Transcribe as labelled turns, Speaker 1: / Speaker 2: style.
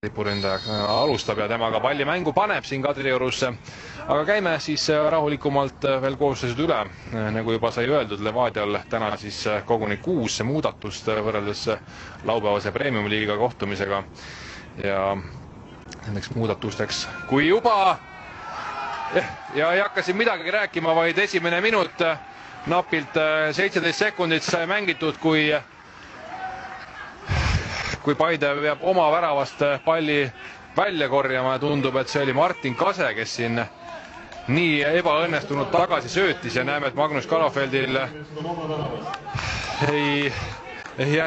Speaker 1: tipuründaja alustab ja temaga palli mängu paneb siin Kadriorus. Aga käime siis rahulikumalt veel koosseisud üle. Nagu juba sai öeldud, Levadial täna siis koguni 6 muudatust võrreldes laupäevase Premium-liiga kohtumisega. Ja nendeks muudatusteks, kui juba ja ei hakka siin midagi rääkima, vaid esimene minut, napilt 17 sekundit sai mängitud, kui Paide peab oma väravast palli välja korjama ja tundub, et see oli Martin Kase, kes siin nii ebaõnnestunult tagasi söötis ja näeme, et Magnus Kalafeldil ei jäänud